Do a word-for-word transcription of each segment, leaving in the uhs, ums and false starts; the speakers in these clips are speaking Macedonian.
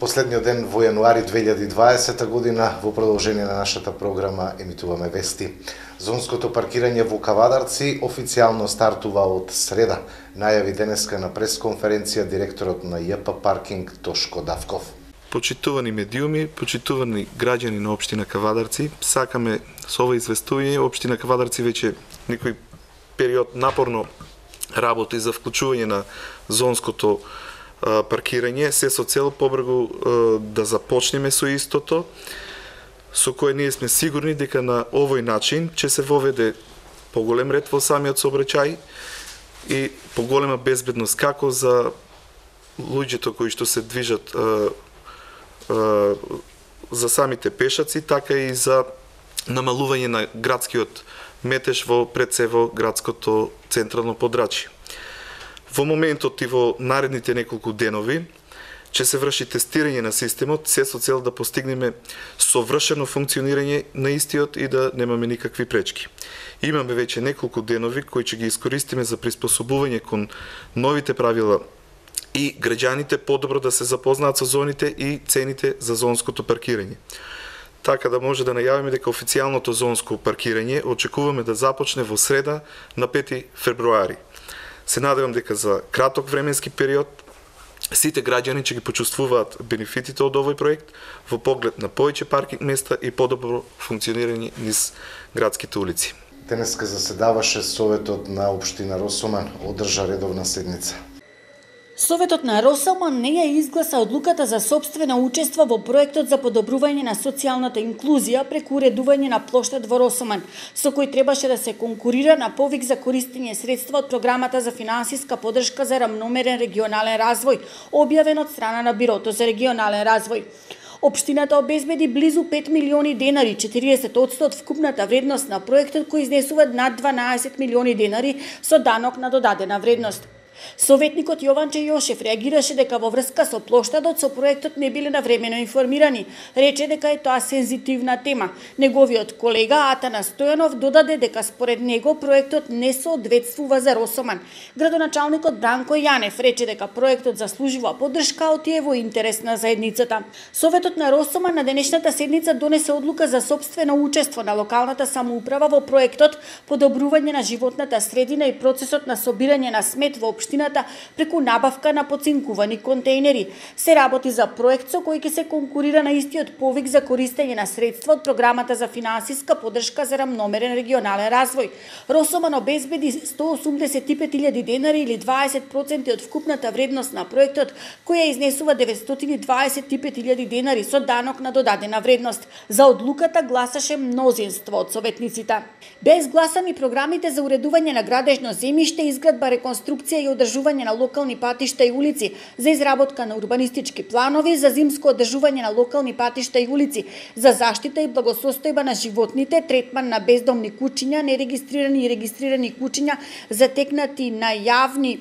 Последниот ден во јануари две илјади и дваесета година, во продолжение на нашата програма, емитуваме вести. Зонското паркирање во Кавадарци официјално стартува од среда, најави денеска на пресконференција директорот на Ј П Паркинг Тошко Давков. Почитувани медиуми, почитувани граѓани на општина Кавадарци, сакаме со ова известување општина Кавадарци веќе некој период напорно работи за вклучување на зонското паркирање, се со цел побрзо да започнеме со истото, со кое ние сме сигурни дека на овој начин ќе се воведе поголем ред во самиот сообраќај и поголема безбедност како за луѓето кои што се движат а, а, за самите пешаци, така и за намалување на градскиот метеж во пред се во градското централно подрачје. Во моментот и во наредните неколку денови ќе се врши тестирање на системот, се со цел да постигнеме совршено функционирање на истиот и да немаме никакви пречки. Имаме веќе неколку денови кои ќе ги искористиме за приспособување кон новите правила и граѓаните подобро да се запознаат со зоните и цените за зонското паркирање. Така да може да најавиме дека официјалното зонско паркирање очекуваме да започне во среда на пети февруари. Се надевам дека за краток временски период сите граѓани ќе ги почувствуваат бенефитите од овој проект во поглед на повеќе паркинг места и подобро функционирање низ градските улици. Денеска заседаваше Советот на општина Росоман, одржа редовна седница. Советот на Росоман не ја изгласа одлуката за сопствено учество во проектот за подобрување на социјалната инклузија преку уредување на плоштад во Росоман, со кој требаше да се конкурира на повик за користење средства од програмата за финансиска поддршка за рамномерен регионален развој, објавен од страна на Бирото за регионален развој. Општината обезбеди близу пет милиони денари, четириесет одсто од вкупната вредност на проектот кој изнесува над дванаесет милиони денари со данок на додадена вредност. Советникот Јованче Јошев реагираше дека во врска со плоштадот со проектот не биле навремено информирани. Рече дека е тоа сензитивна тема. Неговиот колега Атана Стојанов додаде дека според него проектот не соодветствува за Росоман. Градоначалникот Бранко Јанев рече дека проектот заслужува поддршка од е во интерес на заедницата. Советот на Росоман на денешната седница донесе одлука за сопствено учество на локалната самоуправа во проектот подобрување на животната средина и процесот на собирање на смет во општината преку набавка на поцинкувани контејнери. Се работи за проект со кој ќе се конкурира на истиот повик за користење на средства од програмата за финансиска поддршка за рамномерен регионален развој. Росоман обезбеди сто осумдесет и пет илјади денари или дваесет проценти од вкупната вредност на проектот, која изнесува деветстотини и дваесет и пет илјади денари со данок на додадена вредност. За одлуката гласаше мнозинство од советниците. Беа изгласани програмите за уредување на градежно земјиште, изградба, реконструкција и одржување на локални патишта и улици, за изработка на урбанистички планови, за зимско одржување на локални патишта и улици, за заштита и благосостојба на животните, третман на бездомни куќиња, нерегистрирани и регистрирани куќиња затекнати на јавни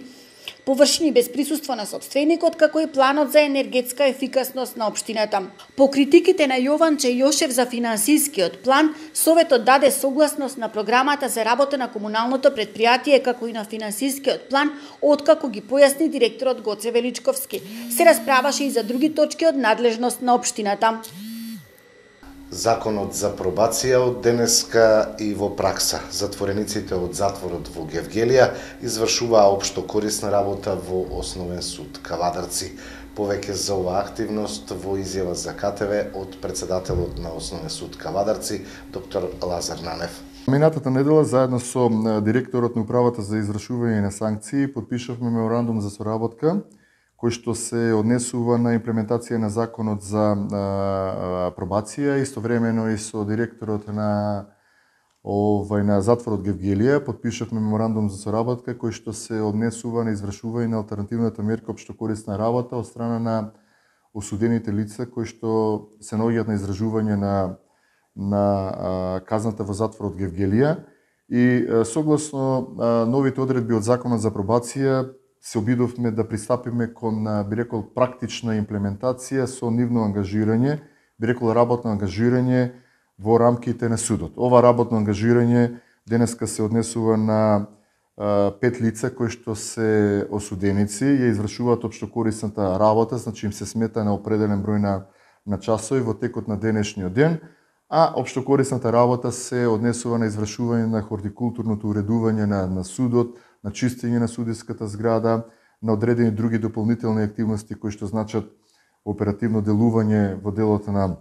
површини без присуство на сопственикот, како и планот за енергетска ефикасност на општината. По критиките на Јованче Јошев за финансискиот план, Советот даде согласност на програмата за работа на комуналното предпријатие, како и на финансискиот план, откако ги појасни директорот Гоце Величковски. Се расправаше и за други точки од надлежност на општината. Законот за пробација од денеска и во пракса. Затворениците од затворот во Гевгелија извршуваа општо корисна работа во Основен суд Кавадарци. Повеќе за оваа активност во изјава за К Т В од председателот на Основен суд Кавадарци, доктор Лазар Нанев. Минатата недела, заедно со директорот на управата за извршување на санкции, подпишавме меморандум за соработка кој што се однесува на имплементација на законот за а, пробација, истовремено и со директорот на овај на затворот Гевгелија подпишавме меморандум за соработка кој што се однесува на извршување на алтернативната мерка општокорисна работа од страна на осудените лица кои што се наоѓаат на издржување на на а, казната во затворот Гевгелија и а, согласно а, новите одредби од законот за пробација се обидовме да пристапиме кон, би рекол, практична имплементација со нивно ангажирање, би рекол, работно ангажирање во рамките на судот. Ова работно ангажирање денеска се однесува на пет лица кои што се осуденици ја извршуваат општокорисната работа, значи им се смета на определен број на, на часови во текот на денешниот ден, а општокорисната работа се однесува на извршување на хортикултурното уредување на, на судот, на чистење на судиската зграда, на одредени други дополнителни активности кои што значат оперативно делување во делото на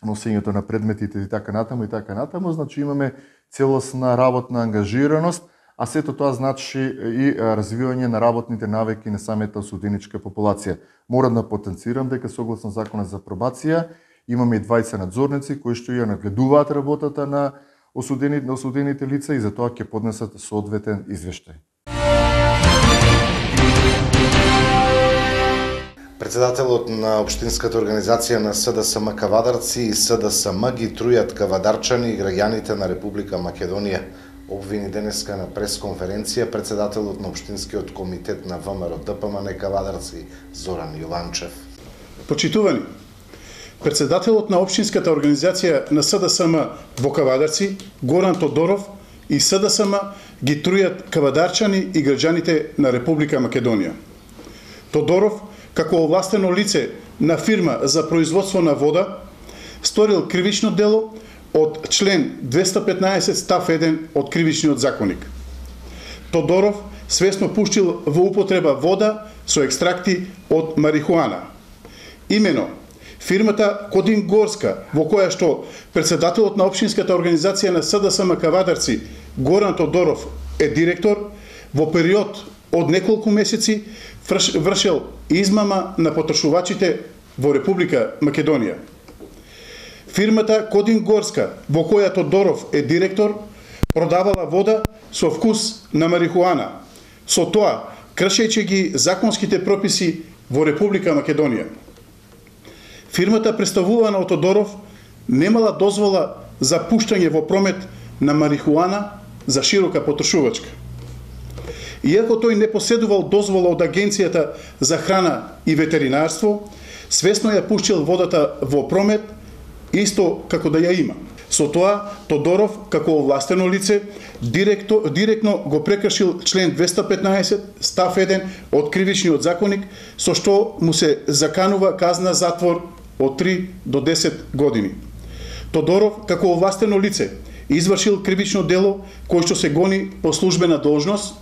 носењето на предметите и така натаму и така натаму, значи имаме целосна работна ангажираност, а сето тоа значи и развивање на работните навики на самата осуденичка популација. Морам да потенцирам дека согласно законот за пробација имаме и двајца надзорници кои што ја нагледуваат работата на осудените, на осудените лица и за тоа ќе поднесат соодветен извештај. Председателот на Општинската организација на СДСМ Кавадарци и СДСМ ги трујат кавадарчани и граѓаните на Република Македонија. Обвини денеска на пресконференција председателот на Општинскиот комитет на ВМРО ДПМН Кавадарци Зоран Јованчев. Почитувани, председателот на Општинската организација на СДСМ во Кавадарци Горан Тодоров и СДСМ ги трујат кавадарчани и граѓаните на Република Македонија. Тодоров, како овластено лице на фирма за производство на вода, сторил кривично дело од член двеста петнаесет став еден од Кривичниот законник. Тодоров свесно пуштил во употреба вода со екстракти од марихуана. Имено, фирмата Кодин Горска, во која што председателот на Општинската организација на СДСМ Кавадарци Горан Тодоров е директор, во период од неколку месеци вршел измама на потрошувачите во Република Македонија. Фирмата Кодин Горска, во која Тодоров е директор, продавала вода со вкус на марихуана, со тоа кршејќи ги законските прописи во Република Македонија. Фирмата представувана од Тодоров немала дозвола за пуштање во промет на марихуана за широка потрошувачка. Иако тој не поседувал дозвола од Агенцијата за храна и ветеринарство, свесно ја пуштил водата во промет, исто како да ја има. Со тоа, Тодоров, како овластено лице, директо, директно го прекршил член двеста петнаесет став еден од Кривичниот законник, со што му се заканува казна затвор од три до десет години. Тодоров, како овластено лице, извршил кривично дело кој што се гони по службена должност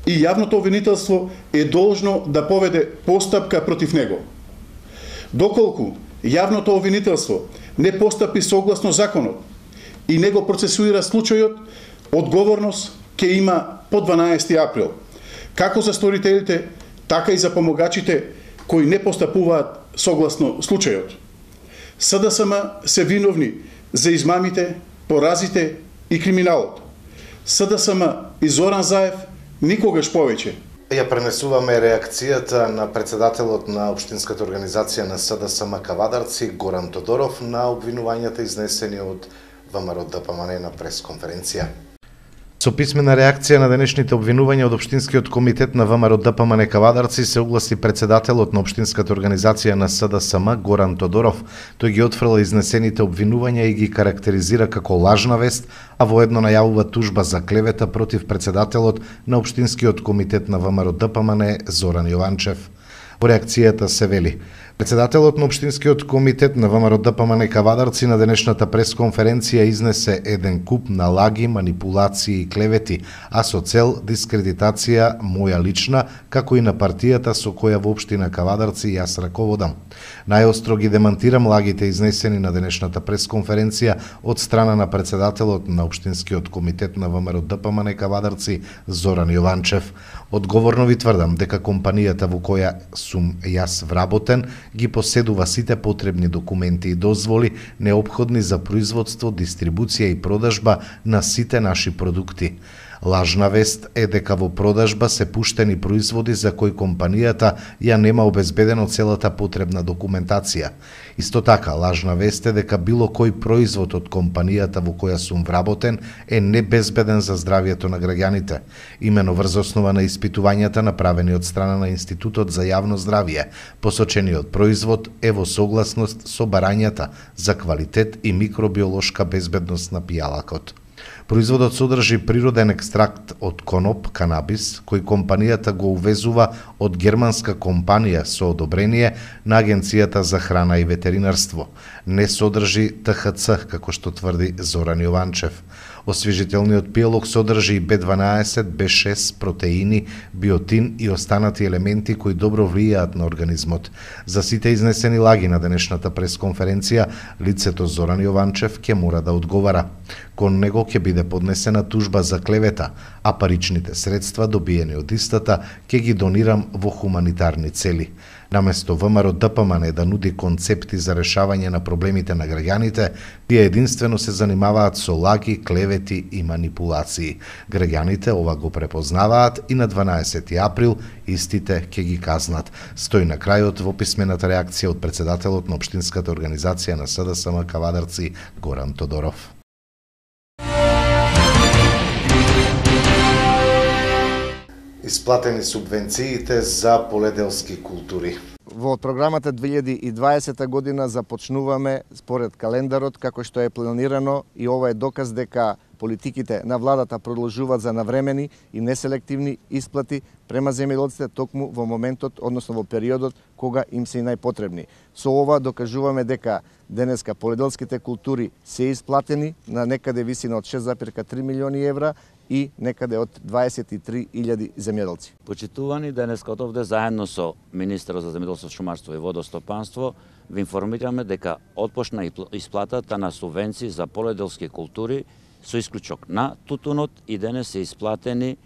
и јавното обвинителство е должно да поведе постапка против него. Доколку јавното обвинителство не постапи согласно законот и не го процесуира случајот, одговорност ќе има по дванаесети април, како за сторителите, така и за помогачите кои не постапуваат согласно случајот. СДСМ се виновни за измамите, поразите и криминалот. СДСМ и Зоран Заев никогаш повеќе. Ја пренесуваме реакцијата на председателот на Општинската организација на СДСМ Кавадарци Горан Тодоров на обвинувањата изнесени од ВМРО ДПМН на пресконференција. Со писмена реакција на денешните обвинувања од Општинскиот комитет на ВМРО ДПМН Кавадарци се огласи председателот на Општинската организација на СДСМ Горан Тодоров. Тој ги отфрла изнесените обвинувања и ги карактеризира како лажна вест, а воедно најавува тужба за клевета против председателот на Општинскиот комитет на ВМРО ДПМН Зоран Јованчев. Во реакцијата се вели: председателот на Општинскиот комитет на ВМРО ДПМН Кавадарци на денешната пресконференција изнесе еден куп на лаги, манипулации и клевети, а со цел дискредитација моја лична, како и на партијата со која во Општина Кавадарци јас раководам. Најостро ги демантирам лагите изнесени на денешната пресконференција од страна на председателот на Општинскиот комитет на ВМРО ДПМН Кавадарци Зоран Јованчев. Одговорно ви тврдам дека компанијата во која сум јас вработен ги поседува сите потребни документи и дозволи неопходни за производство, дистрибуција и продажба на сите наши продукти. Лажна вест е дека во продажба се пуштени производи за кои компанијата ја нема обезбедено целата потребна документација. Исто така, лажна вест е дека било кој производ од компанијата во која сум вработен е небезбеден за здравјето на граѓаните. Имено врз основа на испитувањата направени од страна на Институтот за јавно здравје, посочениот производ е во согласност со барањата за квалитет и микробиолошка безбедност на пијалакот. Производот содржи природен екстракт од коноп, канабис, кој компанијата го увезува од германска компанија со одобрение на Агенцијата за храна и ветеринарство. Не содржи Т Х Ц, како што тврди Зоран Јованчев. Освежителниот пијалок содржи и Б дванаесет, Б шест, протеини, биотин и останати елементи кои добро влијаат на организмот. За сите изнесени лаги на денешната пресконференција, лицето Зоран Јованчев ќе мора да одговара. Кон него ќе биде поднесена тужба за клевета, а паричните средства добиени од истата ќе ги донирам во хуманитарни цели. Наместо ВМРО Д П М Н да нуди концепти за решавање на проблемите на граѓаните, тие единствено се занимаваат со лаги, клевети и манипулации. Граѓаните ова го препознаваат и на дванаесети април истите ќе ги казнат. Стои на крајот во писмената реакција од председателот на Општинската организација на С Д С М Кавадарци Горан Тодоров. Исплатени субвенциите за поледелски култури. Во програмата две илјади и дваесета година започнуваме според календарот како што е планирано и ова е доказ дека политиките на владата продолжуваат за навремени и неселективни исплати према земјоделците токму во моментот, односно во периодот кога им се и најпотребни. Со ова докажуваме дека денеска поледелските култури се исплатени на некаде висина од шест зарез три милиони евра и некаде од дваесет и три илјади земјоделци. Почитувани, денеска од овде заедно со министерот за земјоделство, шумарство и водостопанство ви информираме дека отпочна исплатата на субвенции за поледелски култури со исклучок на тутунот и денес се исплатени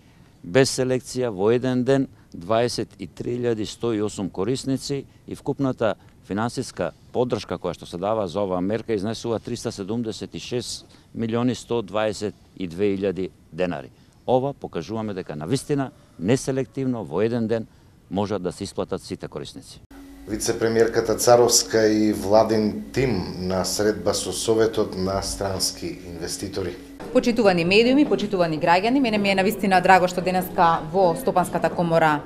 без селекција во еден ден дваесет и три илјади сто и осум корисници и вкупната финансиска поддршка која што се дава за оваа мерка изнесува триста седумдесет и шест милиони сто дваесет и две илјади денари. Ова покажуваме дека навистина неселективно во еден ден можат да се исплатат сите корисници. Вице-премиерката Царовска и владин тим на средба со Советот на странски инвеститори. Почитувани медиуми, почитувани граѓани, мене ми е навистина драго што денеска во Стопанската комора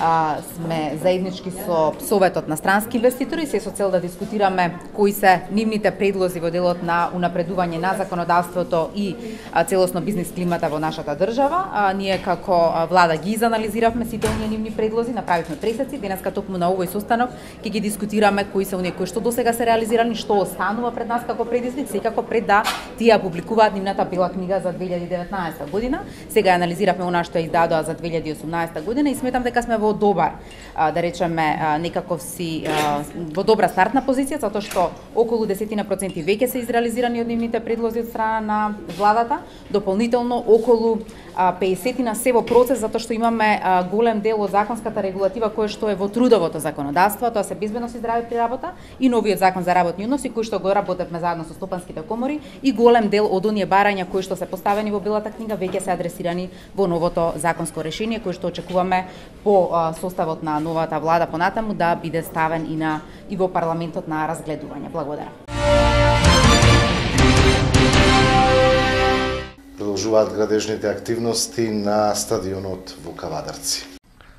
а, сме заеднички со Советот на странски инвеститори, се со цел да дискутираме кои се нивните предлози во делот на унапредување на законодавството и а, целосно бизнис климата во нашата држава. А, ние како а, влада ги изанализиравме сите оние нивни предлози, направивме пресеци, денеска токму на овој состанок ќе ги дискутираме кои се оние кои што досега се реализирани, што останува пред нас како предизвик, секако пред да тие публикуваат нивната бела книга за две илјади и деветнаесета година. Сега анализиравме она што ја издадоа за две илјади и осумнаесета година и сметам дека сме во добар, да речеме, некаков си во добра стартна позиција, затоа што околу десет проценти веќе се изреализирани од нивните предлози од страна на владата, дополнително околу пеесет на се во процес, затоа што имаме голем дел од законската регулатива која што е во трудовото законодавство, тоа се безбедност и здраве при работа и новиот закон за работни односи кој што го работевме заедно со стопанските комори и голем дел од оние барања кои што се поставени во белата книга веќе се адресирани во новото законско решение кој што очекуваме по составот на новата влада понатаму да биде ставен и на и во парламентот на разгледување. Благодарам. Продолжуваат градежните активности на стадионот во Кавадарци.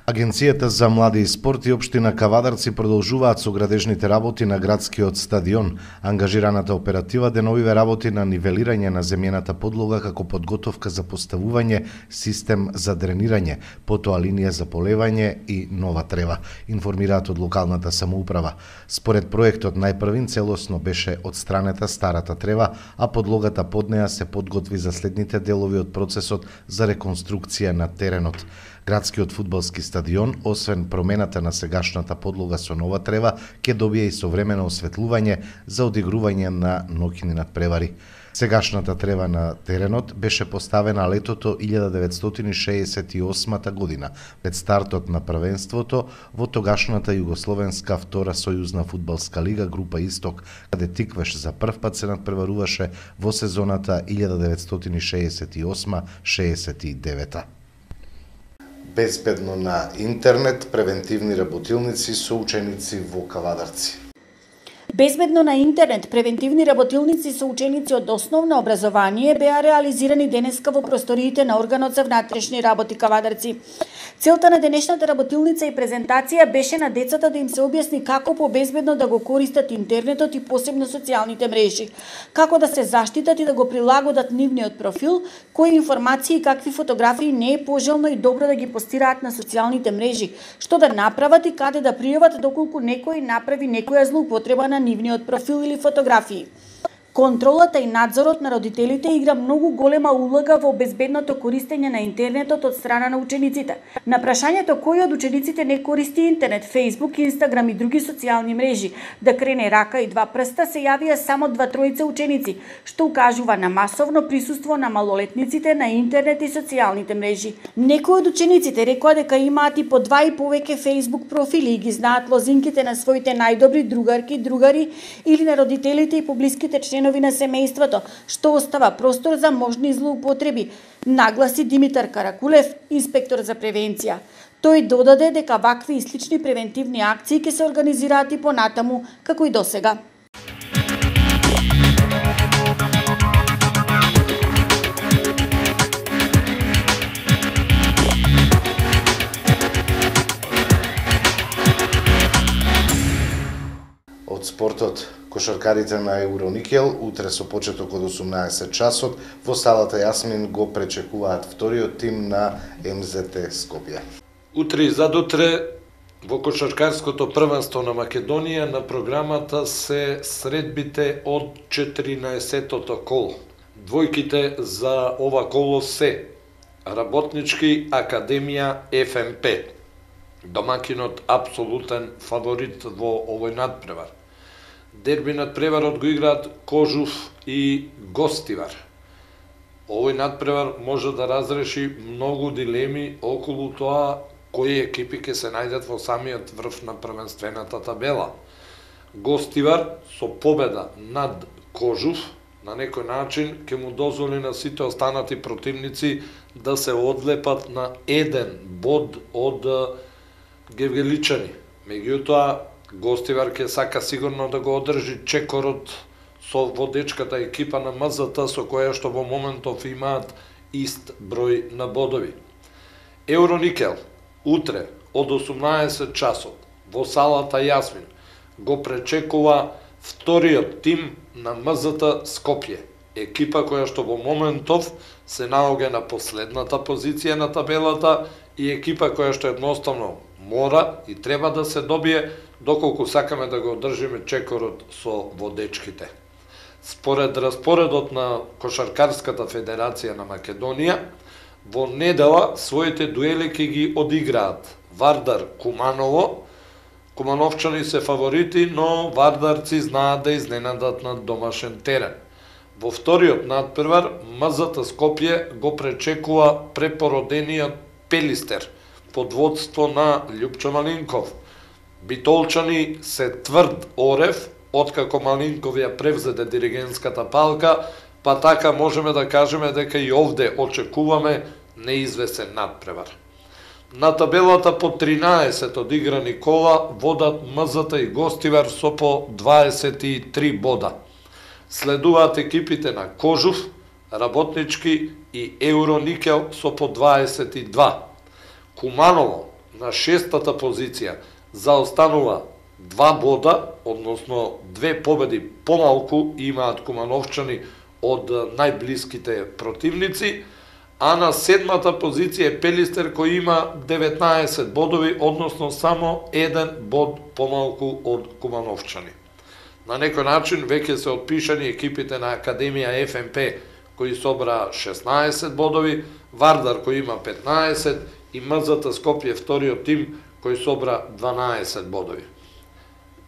Агенцијата за млади и спорт и општина Кавадарци продолжуваат со градежните работи на градскиот стадион. Ангажираната оператива деновиве работи на нивелирање на земјената подлога како подготовка за поставување систем за дренирање, потоа линија за поливање и нова трева, информираат од локалната самоуправа. Според проектот најпрвин целосно беше одстранета старата трева, а подлогата под неа се подготви за следните делови од процесот за реконструкција на теренот. Градскиот фудбалски стадион, освен промената на сегашната подлога со нова трева, ќе добие и современо осветлување за одигрување на ноќни надпревари. Сегашната трева на теренот беше поставена летото илјада деветстотини шеесет и осма година, пред стартот на првенството во тогашната Југословенска втора сојузна фудбалска лига група Исток, каде Тиквеш за прв пат се надпреваруваше во сезоната илјада деветстотини шеесет и осма шеесет и девета. Безбедно на интернет, превентивни работилници со ученици во Кавадарци. Безбедно на интернет превентивни работилници со ученици од основно образование беа реализирани денеска во просториите на органот за внатрешни работи Кавадарци. Целта на денешната работилница и презентација беше на децата да им се објасни како побезбедно да го користат интернетот и посебно социјалните мрежи, како да се заштитат и да го прилагодат нивниот профил, кои информации и какви фотографии не е пожелно и добро да ги постираат на социјалните мрежи, што да направат и каде да пријават доколку некој направи некоја злоупотреба на нивниот профил или фотографии. Контролата и надзорот на родителите игра многу голема улога во безбедното користење на интернетот од страна на учениците. На прашањето кој од учениците не користи интернет, Facebook, Instagram и други социјални мрежи, да крене рака и два прста, се јавија само два тројца ученици, што укажува на масовно присуство на малолетниците на интернет и социјалните мрежи. Некои од учениците рекоа дека имаат и по два и повеќе Facebook профили и ги знаат лозинките на своите најдобри другарки, другари или на родителите и поблиските членови на семејството, што остава простор за можни злоупотреби, нагласи Димитар Каракулев, инспектор за превенција. Тој додаде дека вакви и слични превентивни акции ќе се организираат и понатаму, како и досега. Од спортот, кошаркарите на Евроникел утре со почеток од осумнаесет часот во салата Јасмин го пречекуваат вториот тим на Ем Зе Те Скопје. Утре и задутре во кошаркарското првенство на Македонија на програмата се средбите од четиринаесеттото коло. Двојките за ова коло се Работнички Академија Еф Ем Пе. Домакинот апсолутен фаворит во овој надпревар. Дерби надпреварот го играат Кожув и Гостивар. Овој надпревар може да разреши многу дилеми околу тоа кои екипи ќе се најдат во самиот врв на првенствената табела. Гостивар со победа над Кожув на некој начин ќе му дозволи на сите останати противници да се одлепат на еден bod од гевгеличани. Меѓутоа, Гостивар ќе сака сигурно да го одржи чекорот со водечката екипа на Ем Зет Те, со која што во моментов имаат ист број на бодови. Евроникел утре од осумнаесет часот во салата Јасмин го пречекува вториот тим на Ем Зет Те Скопје, екипа која што во моментов се наоѓа на последната позиција на табелата и екипа која што едноставно мора и треба да се добие доколку сакаме да го одржиме чекорот со водечките. Според распоредот на Кошаркарската федерација на Македонија, во недела своите дуели ќе ги одиграат Вардар Куманово. Кумановчани се фаворити, но вардарци знаат да изненадат на домашен терен. Во вториот надпревар Ем Зет Те Скопје го пречекува препородениот Пелистер под водство на Љупчо Малинков. Битолчани се тврд орев, откако Малинков ја превзеде диригентската палка, па така можеме да кажеме дека и овде очекуваме неизвесен надпревар. На табелата по тринаесет одиграни кола водат Ем Зет Те и Гостивар со по дваесет и три бода. Следуваат екипите на Кожув, Работнички и Евроникел со по дваесет и два. Куманово на шестата позиција заостанува два бода, односно две победи помалку имаат кумановчани од најблиските противници, а на седмата позиција е Пелистер кој има деветнаесет бодови, односно само еден бод помалку од кумановчани. На некој начин веќе се отпишани екипите на Академија Еф Ем Пе кои собра шеснаесет бодови, Вардар кој има петнаесет и Ем Зет Те Скопје вториот тим кој собра дванаесет бодови.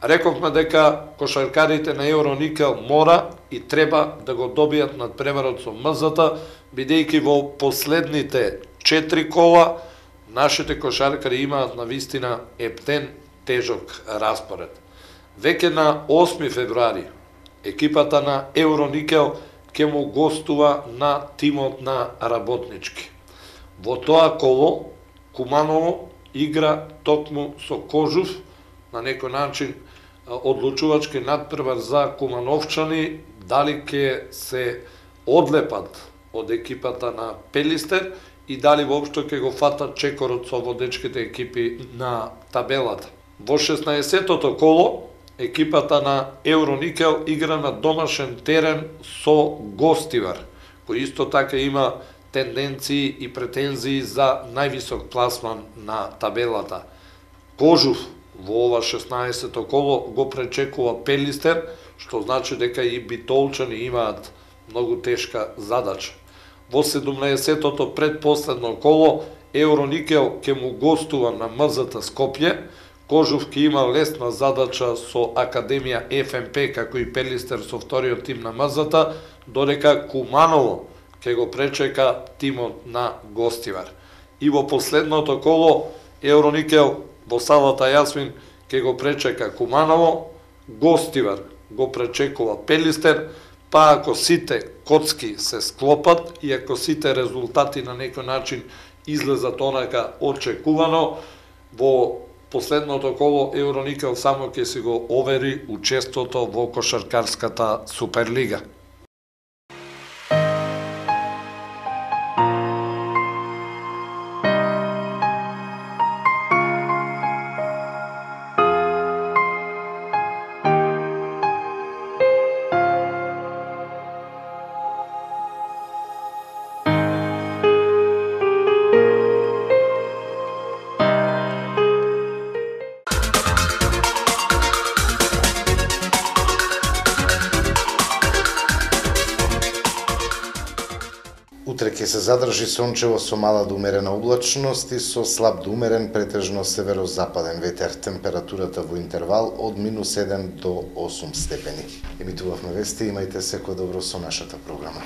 Рековме дека кошаркарите на Евроникел мора и треба да го добијат надпреварот со Ем Зет Те, бидејќи во последните четири кола нашите кошаркари имаат на вистина ептен тежок распоред. Веќе на осми февруари екипата на Евроникел ќе му гостува на тимот на Работнички. Во тоа коло Куманово игра токму со Кожув, на некој начин одлучувачки надпревар за Кумановчани, дали ќе се одлепат од екипата на Пелистер и дали воопшто ќе го фатат чекорот со водечките екипи на табелата. Во шеснаесеттото коло, екипата на Евроникел игра на домашен терен со Гостивар, кој исто така има тенденции и претензии за највисок пласман на табелата. Кожув во ова шеснаесетто коло го пречекува Пелистер, што значи дека и битолчани имаат многу тешка задача. Во седумнаесеттото предпоследно коло, Евроникел ќе му гостува на М З Т Скопје, Кожув ќе има лесна задача со Академија Ф М П, како и Пелистер со вториот тим на М З Т, додека Куманово ќе го пречека тимот на Гостивар. И во последното коло, Евроникел во салата Јасмин ќе го пречека Куманово, Гостивар го пречекува Пелистер, па ако сите коцки се склопат и ако сите резултати на некој начин излезат онака очекувано, во последното коло Евроникел само ќе си го овери учеството во кошаркарската Суперлига. Утре ќе се задржи сончево со мала до умерена облачност и со слаб до умерен претежно северозападен ветер. Температурата во интервал од минус седум до осум степени. Емитувавме вести, имајте секој добро со нашата програма.